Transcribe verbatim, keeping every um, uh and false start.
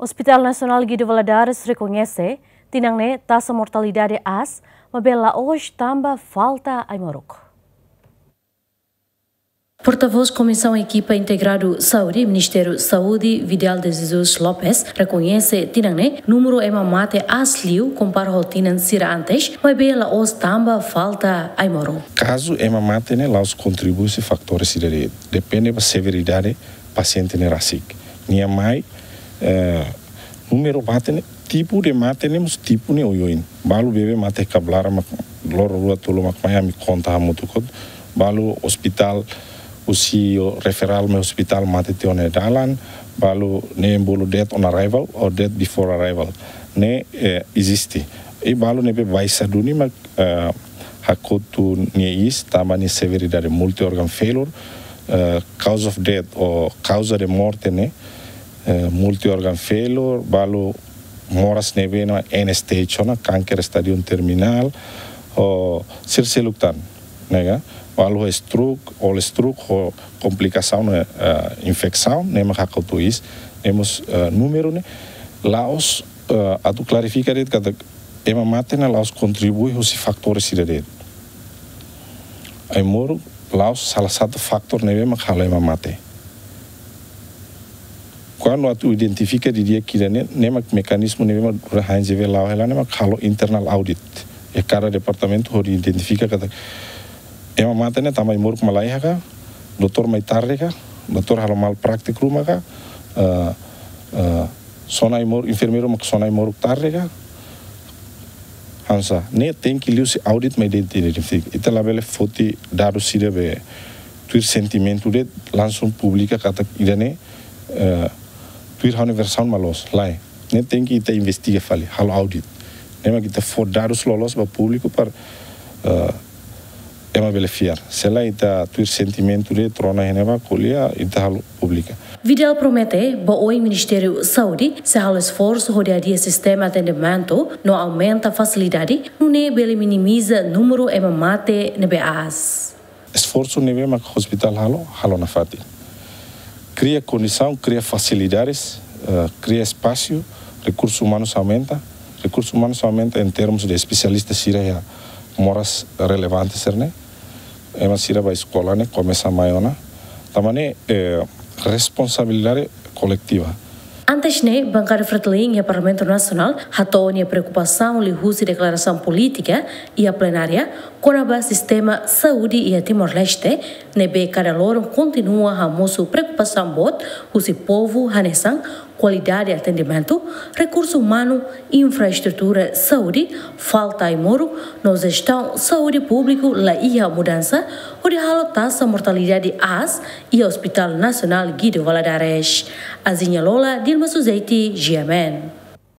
Hospital Nasionál Guido Valadares rekoñese tinan ne'e taxa mortalidade aas, maibé la'ós tanba falta ai-moruk. Portavós Komisaun Ekipa Integradu Saúde, Ministériu Saúde, Vidal de Jesus Lopes, rekoñese tinan ne'e númeru ema mate aas liu kompara ho tinan sira antes, maibé la'ós tanba falta ai-moruk. Kazu ema mate ne'e la'ós kontribui husi fatór sira de'it, depende ba severidade pasiente ne'e rasik. Nia mai, eh, númeru mate ne'e, tipu de mate ne'e mós tipu ne'e oioin. Balu beibeik mate kablara mak loron rua tolu mak mai ami konta hamutuk hotu. Balu ospitál husi referral mai ospitál mate tiha ona iha dalan, balu ne'e bolu death on arrival or death before arrival. Ne'e, eh, eziste. I balu ne'ebé baixa duni mak, eh, hakotu nia iis tanba nia severidade multi-organ failure, eh, cause of death ou causa de morte ne'e, eh, multi-organ failure, balu moras ne'ebé iha end stage ona, kanker estádiu terminál, ou sira seluk tan, ne'e ka? Balu ho stroke, ou stroke ho komplikasaun, eh, infesaun, ne'e mak hakotu iis, ne'e mós, eh, númeru ne'e, la'ós, eh, atu klarifika de'it katak ema mate ne'e la'ós kontribui husi fatór sira de'it. Ai-moruk la'ós sala satu fatór ne'ebé mak halo ema mate. Kuandu atu identifika didi'ak ida-ne'e, ne'e mak mekanizmu ne'ebé mak durante H N G V la'o hela ne'e mak halo internal audit. Iha kada departamentu hodi identifika katak ema mate ne'e tanba ai-moruk mak la iha ka, doutór mai tarde ka, doutór halo malpraktik ruma ka, eh, eh, sona ai-moruk, enfermeiru mak sona ai-moruk tarde ka, hanesan ne'e tenke liuhusi audit mai de'it identifika. Ita labele foti dadus sira be tuir sentimentu de'it langsung publika katak ida-ne'e, eh, tuir ha'u-nia versaun mak loos, lae. Ne'e tenke ita investiga fali, halo audit. Ne'e mak ita fó dadus loloos ba públiku para, eh, ema bele fiar. Se lae ita tuir sentimentu de'it rona iha ne'ebá ko'alia, ita halo publika. Vidal promete ba oin Ministériu Saúde sei halo esforsu hodi hadi'a sistema atendimentu no aumenta fasilidade, nune'e bele minimiza númeru ema mate ne'ebé aas. Esforsu ne'ebé mak ospitál halo, halo nafatin. Kria kondisaun, kria fasilidades, eh, kria espasu, rekursu umanus aumenta, rekursu umanus aumenta em termos de espesialista sira iha moras relevante sira-ne'e. Ema sira ba eskola ne'e komesa mai ona. Tanba ne'e, eh, responsabilidade koletiva. Antes ne'e, Bankada Fretilin iha Parlamentu Nasionál hato'o nia preokupasaun liuhusi deklarasaun polítika iha plenária kona-ba sistema saúde iha Timor-Leste, ne'ebé kada loron kontinua hamosu preokupasaun boot husi povu hanesan kualidade atendimentu, rekursu umanu, infraestrutura saúde, falta ai-moruk, no jestaun saúde públiku la iha mudansa, hodi halo taxa mortalidade aas iha Hospital Nasionál Guido Valadares. Aziña Lola, Dilma Suzeti, G M N.